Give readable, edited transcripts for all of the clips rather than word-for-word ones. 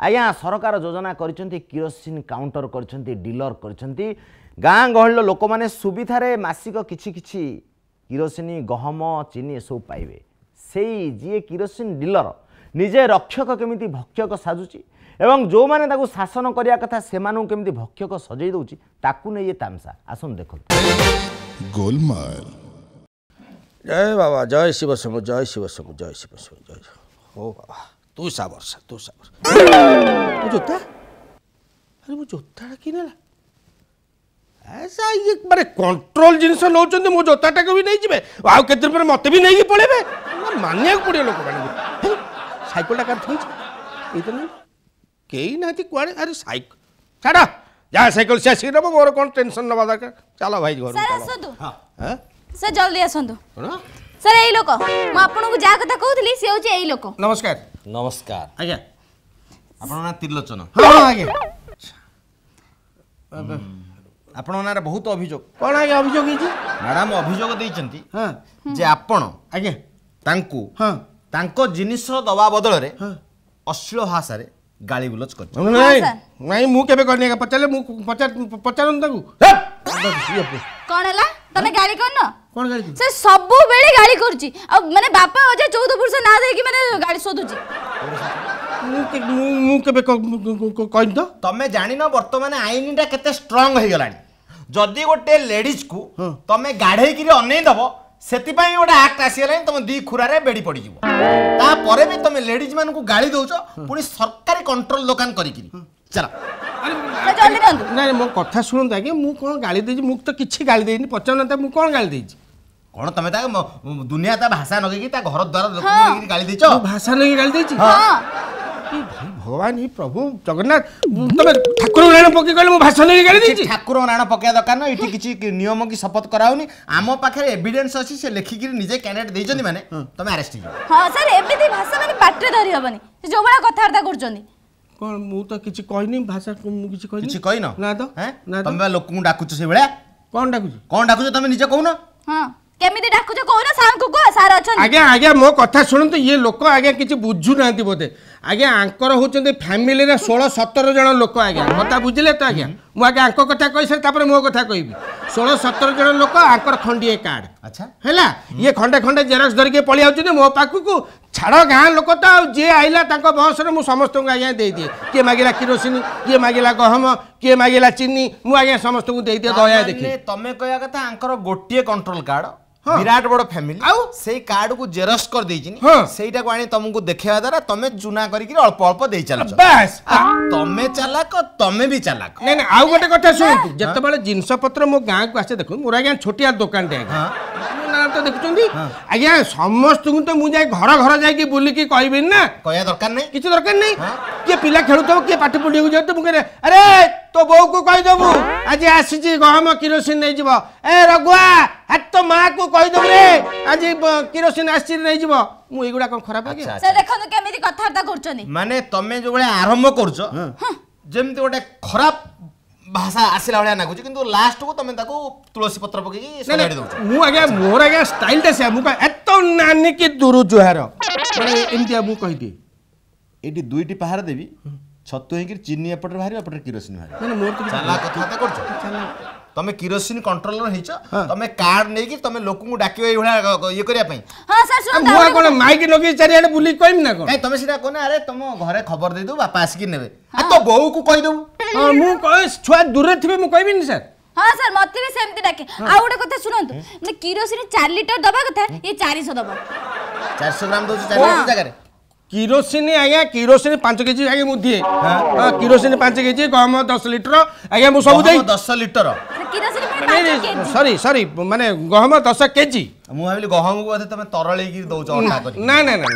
ଆଜ୍ଞା ସରକାର ଯୋଜନା କରିଛନ୍ତି, କିରୋସିନ କାଉଣ୍ଟର କରିଛନ୍ତି, ଡିଲର କରିଛନ୍ତି। ଗାଁ ଗହଳିର ଲୋକମାନେ ସୁବିଧାରେ ମାସିକ କିଛି କିଛି କିରୋସିନି, ଗହମ, ଚିନି ଏସବୁ ପାଇବେ। ସେଇ ଯିଏ କିରୋସିନ ଡିଲର ନିଜେ ରକ୍ଷକ କେମିତି ଭକ୍ଷକ ସାଜୁଛି ଏବଂ ଯେଉଁମାନେ ତାକୁ ଶାସନ କରିବା କଥା ସେମାନଙ୍କୁ କେମିତି ଭକ୍ଷକ ସଜେଇ ଦେଉଛି, ତାକୁ ନେଇ ଏ ତାମସା। ଆସନ୍ତୁ ଦେଖନ୍ତୁ। ଗୋଲମାଲ। ଜୟ ବାବା, ଜୟ ଶିବ ଶମ୍ଭୁ, ଜୟ ଶିବ ଶମ୍ଭୁ, ଜୟ ଶିବ ଶମ୍ଭୁ, ଜୟ ହଉ ବାବା। ତୁ ସା ବର୍ଷା, ତୁ ସା ବର୍ଷା। ମୋ ଜୋତା, ଆରେ ମୋ ଜୋତାଟା କିଏ ନେଲା? ଇଏ ମାନେ କଣ୍ଟ୍ରୋଲ ଜିନିଷ ନେଉଛନ୍ତି, ମୋ ଜୋତାଟାକୁ ବି ନେଇଯିବେ, ଆଉ କେତେ ଦିନ ପରେ ମୋତେ ବି ନେଇକି ପଳେଇବେ। ମାନିବାକୁ ପଡ଼ିବ ଲୋକମାନଙ୍କୁ। ସାଇକେଲଟା କାହାର ଥୋଇଛି? ଏଇ ତ ନାହିଁ, କେହି ନାହାନ୍ତି କୁଆଡ଼େ। ଆରେ ସାଇକେଲ ଛାଡ଼, ଯାହା ସାଇକେଲ ସେ ଆସିକି ନେବ, ମୋର କ'ଣ ଟେନସନ୍ ନେବା ଦରକାର। ଚାଲ ଭାଇ ଘରକୁ। ସାର୍ ଆସନ୍ତୁ ସାର୍, ଜଲ୍ଦି ଆସନ୍ତୁ ସାର୍। ଏଇ ଲୋକ, ମୁଁ ଆପଣଙ୍କୁ ଯାହା କଥା କହୁଥିଲି ସେ ହେଉଛି ଏଇ ଲୋକ। ନମସ୍କାର। ନମସ୍କାର ଆଜ୍ଞା। ଆପଣଙ୍କ ନାଁ ତ୍ରିଲୋଚନ? ହଁ ଆଜ୍ଞା। ଆପଣଙ୍କ ନାଁରେ ବହୁତ ଅଭିଯୋଗ। କ'ଣ ଆଜ୍ଞା ଅଭିଯୋଗ ହେଇଛି? ମ୍ୟାଡ଼ାମ ଅଭିଯୋଗ ଦେଇଛନ୍ତି ଯେ ଆପଣ ଆଜ୍ଞା ତାଙ୍କୁ ହଁ ତାଙ୍କ ଜିନିଷ ଦବା ବଦଳରେ ଅଶ୍ଳୀଳ ଭାଷାରେ ଗାଳି ଗୁଲଜ କରିଛନ୍ତି। ନାଇଁ ନାଇଁ, ମୁଁ କେବେ କରିନି ଆଜ୍ଞା। ପଚାରିଲେ ମୁଁ ପଚାରନ୍ତୁ ତାକୁ। କ'ଣ ହେଲା, ତମେ ଗାଳି କରିନ? କ'ଣ ଗାଳି? ସେ ସବୁବେଳେ ଗାଳି କରୁଛି, ଆଉ ମାନେ ବାପା ଅଜା 14 ପୁରୁଷ ନାଁ ଦେଇକି ମାନେ ଗାଳି ଶୋଧୁଛି। ମୁଁ କେବେ କହିନି ତ। ତମେ ଜାଣିନ ବର୍ତ୍ତମାନ ଆଇନଟା କେତେ ଷ୍ଟ୍ରଙ୍ଗ ହେଇଗଲାଣି। ଯଦି ଗୋଟେ ଲେଡିଜକୁ ତମେ ଗାଢ଼େଇକିରି ଅନେଇ ଦବ, ସେଥିପାଇଁ ଗୋଟେ ଆକ୍ଟ ଆସିଗଲାଣି, ତମ ଦି ଖୁରାରେ ବେଡ଼ି ପଡ଼ିଯିବ। ତାପରେ ବି ତମେ ଲେଡିଜ ମାନଙ୍କୁ ଗାଳି ଦଉଛ, ପୁଣି ସରକାରୀ କଣ୍ଟ୍ରୋଲ ଦୋକାନ କରିକିରି। ଚାଲ ନାଇଁ, ମୋ କଥା ଶୁଣନ୍ତୁ ଆଜ୍ଞା। ମୁଁ କ'ଣ ଗାଳି ଦେଇଛି? ମୁଁ ତ କିଛି ଗାଳି ଦେଇନି। ପଚାରୁନାହାନ୍ତି ମୁଁ କ'ଣ ଗାଳି ଦେଇଛି। କ'ଣ ତମେ ତା ଦୁନିଆ ତା ଭାଷା ନଗେଇକି ତା ଘର ଦ୍ୱାର ଗାଳି ଦେଇଛ? ଭାଷା ନଗେଇକି ଗାଳି ଦେଇଛି? ଭାଇ ଭଗବାନ, ହେ ପ୍ରଭୁ ଜଗନ୍ନାଥ, ତମେ ଠାକୁର ରାଣ ପକେଇ କହିଲେ ମୁଁ ଭାଷା ନେଇକି ଗାଳି ଦେଇଛି? ଠାକୁର ରାଣ ପକେଇବା ଦରକାର ନା, ଏଠି କିଛି ନିୟମ କି ଶପଥ କରାହଉନି। ଆମ ପାଖରେ ଏଭିଡେନ୍ସ ଅଛି, ସେ ଲେଖିକିରି ନିଜେ କ୍ୟାଣ୍ଡିଡେଟ୍ ଦେଇଛନ୍ତି, ମାନେ ତମେ ଆରେଷ୍ଟ ହେଇଯିବ। ହଁ ସାର୍, ଏମିତି ଭାଷା ମାନେ ପାଟିରେ ଧରି ହବନି, ସେ ଯୋଉ ଭଳିଆ କଥାବାର୍ତ୍ତା କରୁଛନ୍ତି। କ'ଣ, ମୁଁ ତ କିଛି କହିନି ଭାଷା, ମୁଁ କିଛି କହିନି। କିଛି କହିନ? ନା ତ। ତମେ ବା ଲୋକଙ୍କୁ ଡାକୁଛ ସେଇଭଳିଆ। କ'ଣ ଡାକୁଛି? କ'ଣ ଡାକୁଛ ତମେ ନିଜେ କହୁନ। ହଁ, କେମିତି ଡାକୁଛ କହୁନ, ସାର୍ଙ୍କୁ କୁହ, ସାର୍ ଅଛନ୍ତି। ଆଜ୍ଞା ଆଜ୍ଞା, ମୋ କଥା ଶୁଣନ୍ତୁ। ଇଏ ଲୋକ ଆଜ୍ଞା କିଛି ବୁଝୁନାହାନ୍ତି ବୋଧେ। ଆଜ୍ଞା ଆଙ୍କର ହେଉଛନ୍ତି ଫ୍ୟାମିଲିରେ 16 17 ଜଣ ଲୋକ ଆଜ୍ଞା। କଥା ବୁଝିଲେ ତ ଆଜ୍ଞା? ମୁଁ ଆଜ୍ଞା ଆଙ୍କ କଥା କହିସାରି ତାପରେ ମୋ କଥା କହିବି। 16 17 ଜଣ ଲୋକ, ଆଙ୍କର ଖଣ୍ଡିଏ କାର୍ଡ଼। ଆଚ୍ଛା ହେଲା, ଇଏ ଖଣ୍ଡେ ଖଣ୍ଡେ ଜେରକ୍ସ ଧରିକି ପଳେଇ ଆଉଛନ୍ତି ମୋ ପାଖକୁ। ଛାଡ଼, ଗାଁ ଲୋକ ତ, ଆଉ ଯିଏ ଆଇଲା ତାଙ୍କ ବସରେ ମୁଁ ସମସ୍ତଙ୍କୁ ଆଜ୍ଞା ଦେଇଦିଏ। କିଏ ମାଗିଲା କିରୋସିନି, କିଏ ମାଗିଲା ଗହମ, କିଏ ମାଗିଲା ଚିନି, ମୁଁ ଆଜ୍ଞା ସମସ୍ତଙ୍କୁ ଦେଇଦିଏ ଦୟା ଦେଖି। ତମେ କହିବା କଥା ଆଙ୍କର ଗୋଟିଏ କଣ୍ଟ୍ରୋଲ କାର୍ଡ଼, ବିରାଟ ବଡ ଫ୍ୟାମିଲି, ଆଉ ସେଇ କାର୍ଡକୁ ଜେରକ୍ସ କରିଦେଇଛି, ସେଇଟାକୁ ଆଣି ତମକୁ ଦେଖେଇବା ଦ୍ୱାରା ତମେ ଚୁନା କରିକି ଅଳ୍ପ ଅଳ୍ପ ଦେଇ ଚାଲୁଛ। ବାସ୍, ତମେ ଚାଲାକ, ତମେ ବି ଚାଲାକ। ନାଇଁ ନାଇଁ, ଆଉ ଗୋଟେ କଥା ଶୁଣନ୍ତୁ। ଯେତେବେଳେ ଜିନିଷ ପତ୍ର ମୋ ଗାଁକୁ ଆସେ, ଦେଖନ୍ତୁ ମୋର ଆଜ୍ଞା ଛୋଟିଆ ଦୋକାନଟେ ଆଜ୍ଞା, ନା ତ ଦେଖୁଛନ୍ତି ଆଜ୍ଞା, ସମସ୍ତଙ୍କୁ ତ ମୁଁ ଯାଇ ଘର ଘର ଯାଇକି ବୁଲିକି କହିବିନି ନା। କହିବା ଦରକାର ନାହିଁ, କିଛି ଦରକାର ନାହିଁ। କିଏ ପିଲା ଖେଳୁଥିବ, କିଏ ପାଠ ପଢିବାକୁ ଯାଉଥିବ, ମୁଁ କହେ ଆରେ ତୋ ବୋଉକୁ କହିଦେବୁ ଆଜି ଆସିଛି ଗହମ କିରୋସିନ ନେଇଯିବ। ଏ ରଘୁଆ, ତୋ ମାକୁ କହିଦେବୁ ରେ ଆଜି କିରୋସିନ ଆସିଛି ନେଇଯିବ। ମୁଁ ଏଇଗୁଡ଼ା କଣ ଖରାପ ଆଜ୍ଞା? ସେ ଦେଖନ୍ତୁ କେମିତି କଥାବାର୍ତ୍ତା କରୁଛନ୍ତି। ମାନେ ତମେ ଯୋଉ ଭଳିଆ ଆରମ୍ଭ କରୁଛ, ଯେମିତି ଗୋଟେ ଖରାପ ଭାଷା ଆସିଲା ଭଳିଆ ଲାଗୁଛି, କିନ୍ତୁ ଲାଷ୍ଟକୁ ତମେ ତାକୁ ତୁଳସୀ ପତ୍ର ପକେଇକି ସଜାଡ଼ି ଦଉଛ। ମୁଁ ଆଜ୍ଞା, ମୋର ଆଜ୍ଞା ଷ୍ଟାଇଲଟା ସେୟା। ମୁଁ କହେ ଏତ ନାନୀ କି ଦୁରୁ ଜୁହାର, ମାନେ ଏମିତିଆ ମୁଁ କହିଦିଏ। ଏଇଠି ଦୁଇଟି ପାହାର ଦେବି, ଛତୁ ହେଇକି ଚିନି ଏପଟରେ ବାହାରିବ, ଏପଟରେ କିରୋସିନ ବାହାରିବ। ମୋର ଚାଲା କଥାବାର୍ତ୍ତା କରୁଛ ତମେ। କିରୋସିନ କଣ୍ଟ୍ରୋଲର ହେଇଛ ତମେ, କାର୍ଡ ନେଇକି ତମେ ଲୋକଙ୍କୁ ଡାକିବ ଏଇଭଳିଆ ଇଏ କରିବା ପାଇଁ? ହଁ ସାର୍ ଶୁଣନ୍ତୁ, ମୁଁ କ'ଣ ମାଇକି ଲଗେଇ ଚାରିଆଡ଼େ ବୁଲିକି କହିବି ନା କ'ଣ? ନାଇଁ, ତମେ ସେଇଟା କହୁନ, ଆରେ ତମ ଘରେ ଖବର ଦେଇଦେବୁ, ବାପା ଆସିକି ନେବେ, ତୋ ବୋଉକୁ କହିଦେବୁ। ମୁଁ ଛୁଆ ଦୂରରେ ଥିବେ ମୁଁ କହିବିନି ସାର୍। ହଁ ସାର୍, ମତେ ବି ସେମିତି ଡାକେ। ଆଉ ଗୋଟେ କଥା ଶୁଣନ୍ତୁ, ମାନେ କିରୋସିନ 4 ଲିଟର ଦବା କଥା, ଇଏ 400 ଦବ। 400 ଗ୍ରାମ ଦଉଛି 4 ଲିଟର ଜାଗାରେ କିରୋସିନି ଆଜ୍ଞା? କିରୋସିନି 5 କେଜି ଆଜ୍ଞା ମୁଁ ଦିଏ। କିରୋସିନି 5 କେଜି, ଗହମ 10 ଲିଟର ଆଜ୍ଞା, ମୁଁ ସବୁ ଦେଇ। 10 ଲିଟର? ସରି ସରି, ମାନେ ଗହମ 10 କେଜି। ମୁଁ ଭାବିଲି ଗହମକୁ ବୋଧେ ତମେ ତରଳେଇକି ଦଉଛ ଅଟା କରି। ନା ନା ନା,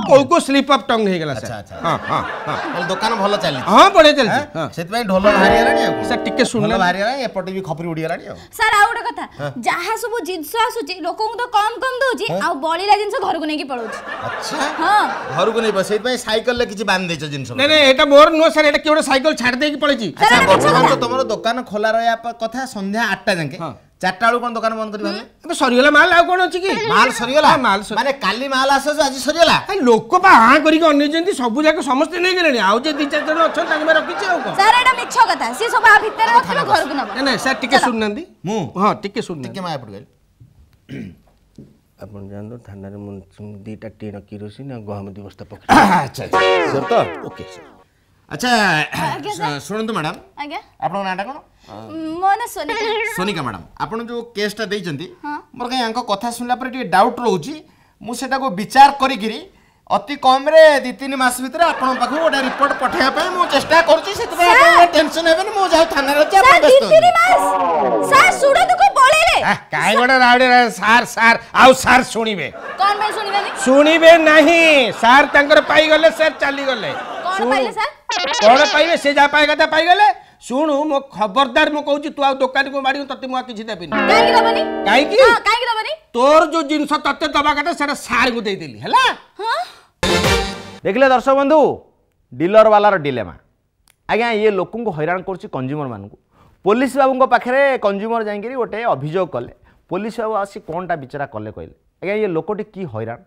କୋଉ କୋଉ ସ୍ଲିପ୍ ଅଫ୍ ଟଙ୍ଗ ହେଇଗଲା ସାର୍। ହଁ ହଁ ହଁ, ଦୋକାନ ଭଲ ଚାଲିଛି? ହଁ, ବଢିଆ ଚାଲିଛି। ସେଥିପାଇଁ ଢୋଲ ବାହାରିଗଲାଣି। ଆଉ ସାର୍ ଟିକେ ଶୁଣିଲେ ବାହାରିଗଲାଣି, ଏପଟେ ବି ଖପରି ଉଡ଼ିଗଲାଣି। ଆଉ ସାର୍ ଆଉ ଗୋଟେ କଥା, ଯାହା ସବୁ ଜିନିଷ ଆସୁଛି ଲୋକଙ୍କୁ ତ କମ କମ ଦଉଛି, ଆଉ ବଳିଲା ଜିନିଷ ଘରକୁ ନେଇକି ପଳଉଛି। ଆଚ୍ଛା, ହଁ ଘରକୁ ନେଇ, ସେଇଥିପାଇଁ ସାଇକେଲରେ କିଛି ବାନ୍ଧି ଦେଇଛ ଜିନିଷ? ନାଇଁ ନାଇଁ, ଏଇଟା ମୋର ନୁହଁ ସାର୍, ଏଇଟା କିଏ ଗୋଟେ ସାଇକେଲ ଛାଡ଼ି ଦେଇକି ପଳେଇଛି। ଆଚ୍ଛା, ବର୍ତ୍ତମାନ ତ ତମର ଦୋକାନ ଖୋଲା ରହିବା କଥା ସନ୍ଧ୍ୟା 8ଟା ଯାକେ, 4ଟା ବେଳକୁ କ'ଣ ଦୋକାନ ବନ୍ଦ କରିବେ? ଏବେ ସରିଗଲା ମାଲ, ଆଉ କ'ଣ ଅଛି କି? ମାଲ ସରିଗଲା? ମାଲ। ମାନେ କାଲି ମାଲ ଆସୁ ଆଜି ସରିଗଲା? ଲୋକ ପା ହାଁ କରିକି ଅନେଇଛନ୍ତି, ସବୁ ଯାକ ସମସ୍ତେ ନେଇଗଲେଣି। ଆଉ ଯେ 2 4 ଜଣ ଅଛନ୍ତି ତାଙ୍କୁ ରଖିଛି। ଆଉ କ'ଣ? ସାର୍, ଏଇଟା ମିଛ କଥା। ସିଏ ସବୁ ଆ ଭିତରେ ରଖିବେ, ଘରକୁ ନବ। ନାଇଁ ନାଇଁ ସାର୍, ଟିକେ ଶୁଣୁନାହାନ୍ତି। ମୁଁ ହଁ, ଟିକେ ଶୁଣୁନାହାନ୍ତି। ଟିକେ ମା ଏପଟେ କହିଲେ। ଆପଣ ଯାଆନ୍ତୁ ଥାନାରେ, ମୁଁ 2ଟା ଟିଣ କିରୋସିନ ଆଉ ଗହମ 2 ବସ୍ତା ପକେଇ। ଆଚ୍ଛା ଆଚ୍ଛା, ତ ଓକେ ସାର୍। ଆଚ୍ଛା ଶୁଣନ୍ତୁ ମ୍ୟାଡ଼ାମ। ଆଜ୍ଞା। ଆପଣଙ୍କ ନାଁଟା କ'ଣ? ମୋ ନାଁ ସୋନିକା। ସୋନିକା ମ୍ୟାଡ଼ାମ, ଆପଣ ଯେଉଁ କେସ୍ଟା ଦେଇଛନ୍ତି, ମୋର କାହିଁ ୟାଙ୍କ କଥା ଶୁଣିଲା ପରେ ଟିକେ ଡାଉଟ୍ ରହୁଛି। ମୁଁ ସେଟାକୁ ବିଚାର କରିକିରି ଅତି କମ୍ରେ 2 3 ମାସ ଭିତରେ ଆପଣଙ୍କ ପାଖକୁ ଗୋଟେ ରିପୋର୍ଟ ପଠାଇବା ପାଇଁ ମୁଁ ଚେଷ୍ଟା କରୁଛି। ସେଥିପାଇଁ ଆପଣ ଟେନସନ୍ ହେବେନି। ମୁଁ ଯାଉ ଥାନାରେ ଅଛି, ଆପଣ ବ୍ୟସ୍ତ। ସାର୍ ଶୁଣନ୍ତୁ, ପଳେଇଲେ କାହିଁ ଗୋଟେ ରାଉଡ଼ି। ସାର୍ ସାର୍, ଆଉ ସାର୍ ଶୁଣିବେ? କ'ଣ ପାଇଁ ଶୁଣିବେନି? ଶୁଣିବେ ନାହିଁ ସାର୍। ତାଙ୍କର ପାଇଗଲେ ସାର୍, ଚାଲିଗଲେ। କ'ଣ ପାଇଲେ ସାର୍? କ'ଣ ପାଇବେ? ସେ ଯାହା ପାଇବା କଥା ପାଇଗଲେ। ଶୁଣୁ ମୋ ଖବରଦାର, ମୁଁ କହୁଛି, ତୁ ଆଉ ଦୋକାନକୁ ମାଡ଼ିବୁ, ତତେ ମୁଁ ଆଉ କିଛି ଦେବିନି। କାହିଁକି? କାହିଁକି ଦବନି? ତୋର ଯୋଉ ଜିନିଷ ତତେ ଦବା କଥା ସେଟା ସାର୍ଙ୍କୁ ଦେଇଦେଲି। ହେଲା, ଦେଖିଲେ ଦର୍ଶକ ବନ୍ଧୁ, ଡିଲର ବାଲାର ଡିଲେମା। ଆଜ୍ଞା, ଇଏ ଲୋକଙ୍କୁ ହଇରାଣ କରୁଛି, କଞ୍ଜ୍ୟୁମରମାନଙ୍କୁ। ପୋଲିସ ବାବୁଙ୍କ ପାଖରେ କଞ୍ଜ୍ୟୁମର ଯାଇକିରି ଗୋଟେ ଅଭିଯୋଗ କଲେ। ପୋଲିସ ବାବୁ ଆସି କ'ଣଟା ବିଚାରା କଲେ କହିଲେ? ଆଜ୍ଞା, ଇଏ ଲୋକଟି କି ହଇରାଣ।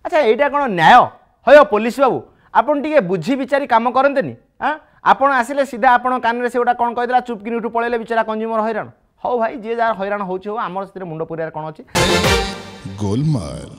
ଆଚ୍ଛା, ଏଇଟା କ'ଣ ନ୍ୟାୟ ହୟ? ପୋଲିସ ବାବୁ, ଆପଣ ଟିକେ ବୁଝି ବିଚାରି କାମ କରନ୍ତେନି? ଆଁ, ଆପଣ ଆସିଲେ ସିଧା ଆପଣ କାନରେ ସେ ଗୋଟା କ'ଣ କହିଦେଲା, ଚୁପକିନି ଉଠୁ ପଳେଇଲେ, ବିଚାରା କଞ୍ଜ୍ୟୁମର ହଇରାଣ। ହଉ ଭାଇ, ଯିଏ ଯାହାର ହଇରାଣ ହେଉଛି ହଉ, ଆମର ସେଥିରେ ମୁଣ୍ଡ ପୁରିବାରେ କ'ଣ ଅଛି? ଗୋଲମାଲ।